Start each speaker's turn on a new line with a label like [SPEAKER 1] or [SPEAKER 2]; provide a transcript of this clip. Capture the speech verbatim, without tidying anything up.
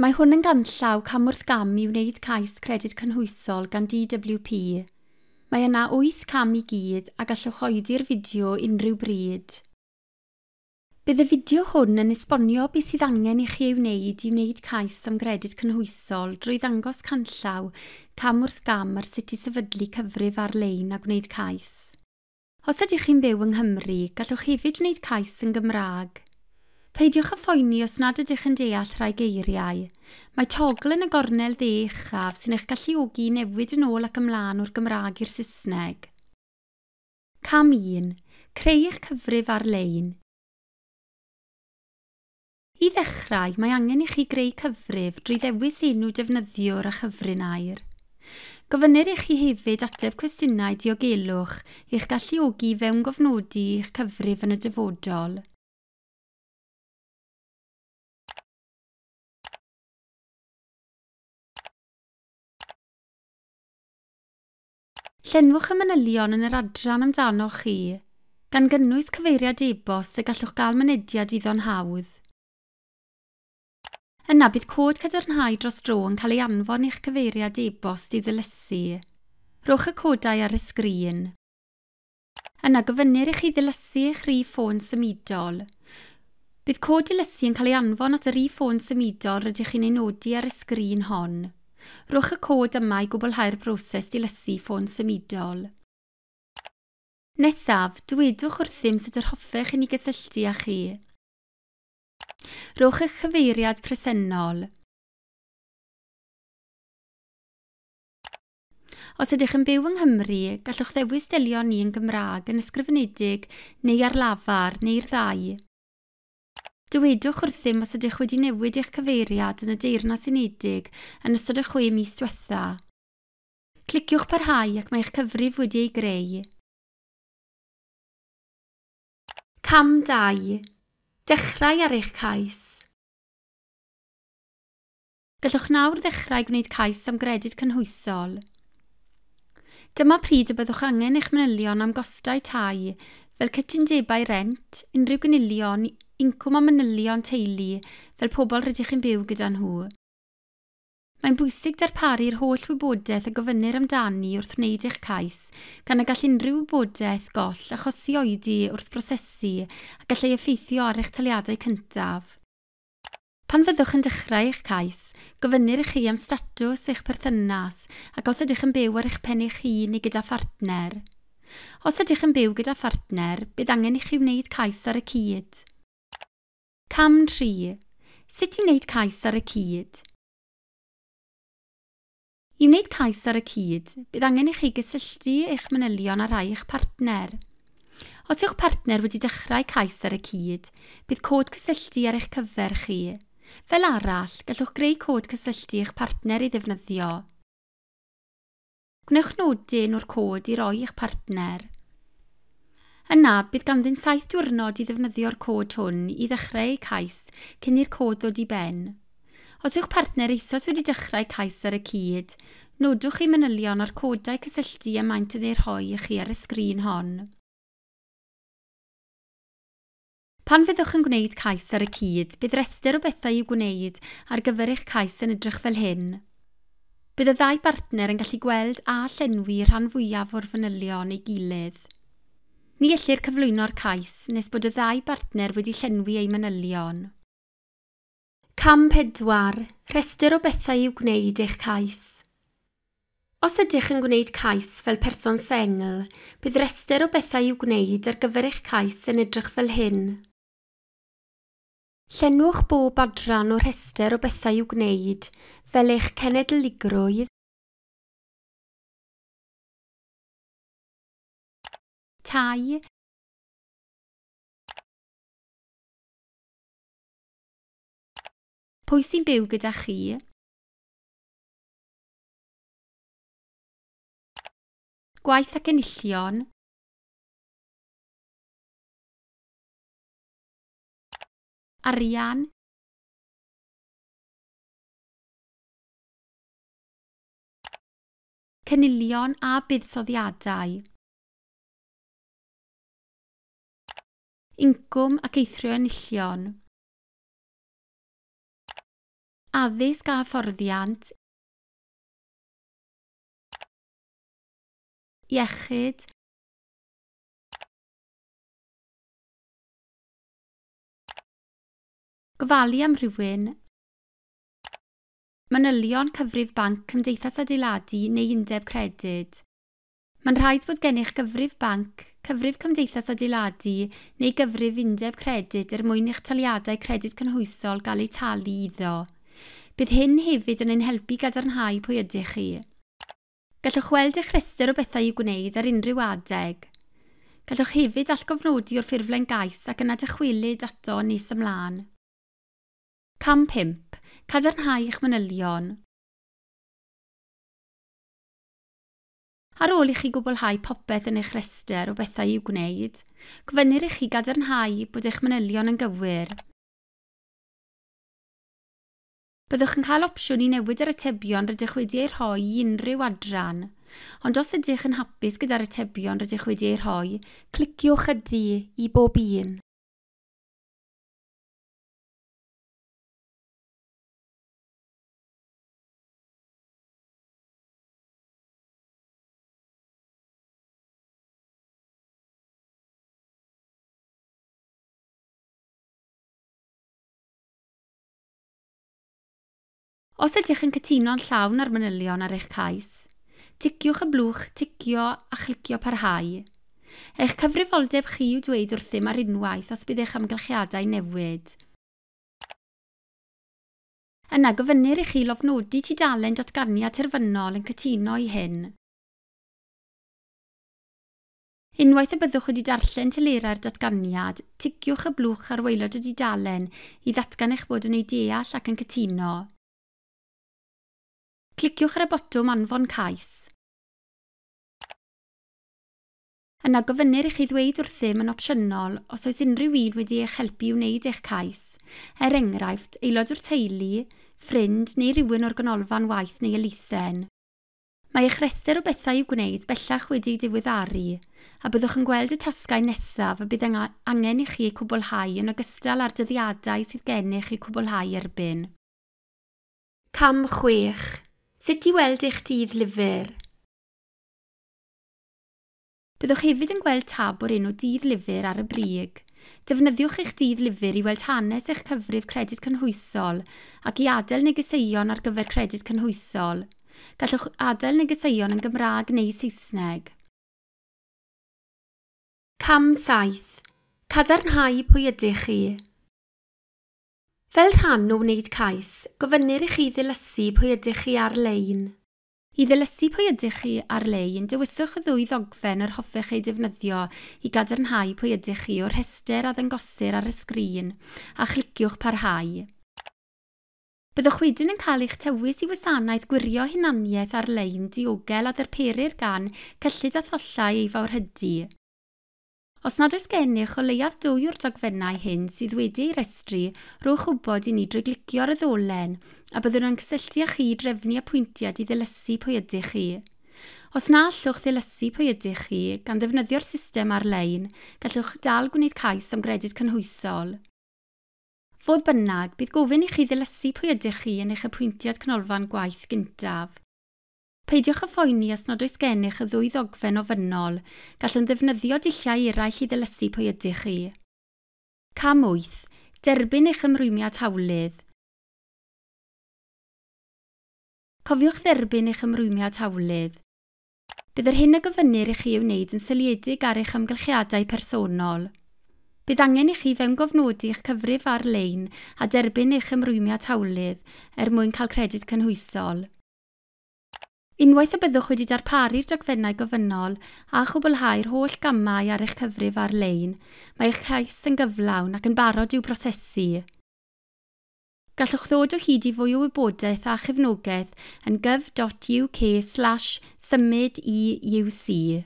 [SPEAKER 1] Mae hwn yn ganllaw cam wrth gam i wneud cais Credyd Cynhwysol gan D W P. Mae yna wyth cam i gyd a gallwch oedi'r fideo unrhyw bryd. Bydd y fideo hwn yn esbonio beth sydd angen i chi ei wneud i wneud cais am Gredyd Cynhwysol drwy ddangos canllaw cam wrth gam ar sut i sefydlu cyfrif ar-lein a gwneud cais. Os ydych chi'n byw yng Nghymru, gallwch hefyd wneud cais yn Gymraeg. Peidiwch â phoeni os nad ydych yn deall rhai geiriau. Mae togl yn y gornel dde uchaf sy'n eich galluogi i newid yn ôl ac ymlaen o'r Gymraeg i'r Saesneg. Cam un. Creu eich cyfrif ar-lein. I ddechrau, mae angen i chi greu cyfrif drwy ddewis enw defnyddiwr a chyfrinair. Gofynnir i chi hefyd ateb cwestiynau diogelwch i'ch galluogi fewngofnodi eich cyfrif yn y dyfodol. Llenwch y manylion yn yr adran amdanoch chi, gan gynnwys cyfeiriad e-bost y gallwch gael mynediad iddo'n hawdd. Yna bydd cod cadarnhau dros dro yn cael ei anfon i'ch cyfeiriad e-bost i'w ddilysu. Rhowch y codau ar y sgrin. Yna gofynnir i chi ddilysu eich rhif ffôn symudol. Bydd cod dilysu yn cael ei anfon at y rhif ffôn symudol rydych chi'n ei nodi ar y sgrin hon. Rhowch y cod yma i gwblhau'r broses dilysu ffôn symudol. Nesaf, dywedwch wrthym sut yr hoffech i ni gysylltu â chi. Rhowch eich cyfeiriad presennol. Os ydych yn byw yng Nghymru, gallwch ddewis delio ni yn Gymraeg yn ysgrifenedig neu ar lafar neu'r ddau. Dywedwch wrthym os ydych wedi newid eich cyfeiriad yn y Deyrnas Unedig yn ystod y chwe mis diwetha. Cliciwch parhau ac mae eich cyfrif wedi ei greu. Cam dau. Dechrau ar eich cais. Gallwch nawr ddechrau gwneud cais am Gredyd Cynhwysol. Dyma pryd y byddwch angen eich manylion am gostau tai, fel cytundebau rent, unrhyw gynilion, incwm a manylion teulu, fel pobl rydych chi'n byw gyda nhw. Mae'n bwysig darparu'r holl wybodaeth y gofynnir amdani wrth wneud eich cais, gan y gall unrhyw wybodaeth goll achosi oedi wrth brosesu a gallai effeithio ar eich taliadau cyntaf. Pan fyddwch yn dechrau eich cais, gofynnir i chi am statws eich perthynas ac os ydych yn byw ar eich pen eich hun neu gyda phartner. Os ydych yn byw gyda phartner, bydd angen i chi wneud cais ar y cyd. Cam tri. Sut i wneud cais ar y cyd? I wneud cais ar y cyd, bydd angen i chi gysylltu eich manylion â rhai eich partner. Os yw'ch partner wedi dechrau cais ar y cyd, bydd cod cysylltu ar eich cyfer chi. Fel arall, gallwch greu cod cysylltu eich partner i ddefnyddio. Gwnewch nodyn o'r cod i roi i'ch partner. Yna, bydd ganddyn saith diwrnod i ddefnyddio'r cod hwn i ddechrau eu cais cyn i'r cod ddod i ben. Os yw'ch partner eisoes wedi dechrau cais ar y cyd, nodwch eu manylion a'r codau cysylltu y maent yn eu rhoi i chi ar y sgrin hon. Pan fyddwch yn gwneud cais ar y cyd, bydd rhestr o bethau i'w gwneud ar gyfer eich cais yn edrych fel hyn. Bydd y ddau bartner yn gallu gweld a llenwi rhan fwyaf o'r fanylion ei gilydd. Ni ellir cyflwyno'r cais nes bod y ddau bartner wedi llenwi eu manylion. Cam pedwar. Rhestr o bethau i'w gwneud eich cais. Os ydych yn gwneud cais fel person sengl, bydd rhestr o bethau i'w gwneud ar gyfer eich cais yn edrych fel hyn. Llenwch bob adran o'r rhestr o bethau i'w gwneud, fel eich cenedligrwydd, tai, pwy sy'n byw gyda chi, gwaith ac enillion, arian, cynilion a buddsoddiadau, incwm ac eithrio enillion, Addysg a hyfforddiant, iechyd, gofalu am rhywun, manylion cyfrif banc cymdeithas adeiladu neu undeb credyd. Mae'n rhaid bod gennych gyfrif banc, cyfrif cymdeithas adeiladu neu gyfrif undeb credyd er mwyn i'ch taliadau credyd cynhwysol gael eu talu iddo. Bydd hyn hefyd yn ein helpu gadarnhau pwy ydych chi. Gallwch weld eich rhestr o bethau i'w gwneud ar unrhyw adeg. Gallwch hefyd allgofnodi o'r ffurflen gais ac yna dychwelyd ato nes ymlaen. Cam pump. Cadarnhau eich manylion. Ar ôl i chi gwblhau popeth yn eich rhestr o bethau i'w gwneud, gofynnir i chi gadarnhau bod eich manylion yn gywir. Byddwch yn cael opsiwn i newid yr atebion rydych wedi eu rhoi i unrhyw adran, ond os ydych yn hapus gyda'r atebion rydych wedi eu rhoi, cliciwch ydy i bob un. Os ydych yn cytuno'n llawn â'r manylion ar eich cais, ticiwch y blwch ticio a chlicio parhau. Eich cyfrifoldeb chi yw dweud wrthym ar unwaith os bydd eich amgylchiadau newid. Yna gofynnir i chi lofnodi tudalen datganiad terfynol yn cytuno i hyn. Unwaith y byddwch wedi darllen telerau'r datganiad, ticiwch y blwch ar waelod y dudalen i ddatgan eich bod yn ei deall ac yn cytuno. Cliciwch ar y botwm Anfon Cais. Yna gofynnir i chi ddweud wrthym yn opsiynol os oes unrhyw un wedi eich helpu i wneud eich cais, er enghraifft, aelod o'r teulu, ffrind neu rywun o'r ganolfan waith neu elusen. Mae eich rhestr o bethau i'w gwneud bellach wedi'i diweddaru, a byddwch yn gweld y tasgau nesaf y bydd angen i chi eu cwblhau yn ogystal â'r dyddiadau sydd gennych eu cwblhau erbyn. Cam chwech. Sut i weld eich dydd lyfr? Byddwch hefyd yn gweld tab o'r enw dydd lyfr ar y brig. Defnyddiwch eich dydd lyfr i weld hanes eich cyfrif credyd cynhwysol ac i adael negeseuon ar gyfer credyd cynhwysol. Gallwch adael negeseuon yn Gymraeg neu Saesneg. Cam saith. Cadarnhau pwy ydych chi. Fel rhan o wneud cais, gofynnir i chi ddilysu pwy ydych chi ar-lein. I ddilysu pwy ydych chi ar-lein, dewiswch y ddwy ddogfen yr hoffech ei defnyddio i gadarnhau pwy ydych chi o'r rhestr a ddangosir ar y sgrin, a chliciwch parhau. Byddwch wedyn yn cael eich tywys i wasanaeth gwirio hunaniaeth ar-lein diogel a ddarperir gan Cyllid a Thollau ei Fawrhydi. Os nad oes gennych o leiaf dwy o'r dogfennau hyn sydd wedi eu rhestru, rhowch wybod i ni drwy glicio ar y ddolen a byddwn yn cysylltu â chi i drefnu apwyntiad i ddilysu pwy ydych chi. Os na allwch ddilysu pwy ydych chi, gan ddefnyddio'r system ar-lein, gallwch dal gwneud cais am gredyd cynhwysol. Fodd bynnag, bydd gofyn i chi ddilysu pwy ydych chi yn eich apwyntiad canolfan gwaith gyntaf. Peidiwch â phoeni os nad oes gennych y ddwy ddogfen ofynnol, gallwn ddefnyddio dulliau eraill i ddilysu pwy ydych chi. Cam wyth. Derbyn eich ymrwymiad hawlydd. Cofiwch dderbyn eich ymrwymiad hawlydd. Bydd yr hyn y gofynnir i chi ei wneud yn seiliedig ar eich amgylchiadau personol. Bydd angen i chi fewngofnodi eich cyfrif ar-lein a derbyn eich ymrwymiad hawlydd er mwyn cael credyd cynhwysol. Unwaith y byddwch wedi darparu'r dogfennau gofynnol a chwblhau'r holl gamau ar eich cyfrif ar-lein, mae eich cais yn gyflawn ac yn barod i'w brosesu. Gallwch ddod o hyd i fwy o wybodaeth a chefnogaeth yn gov dot U K slash symud E U C.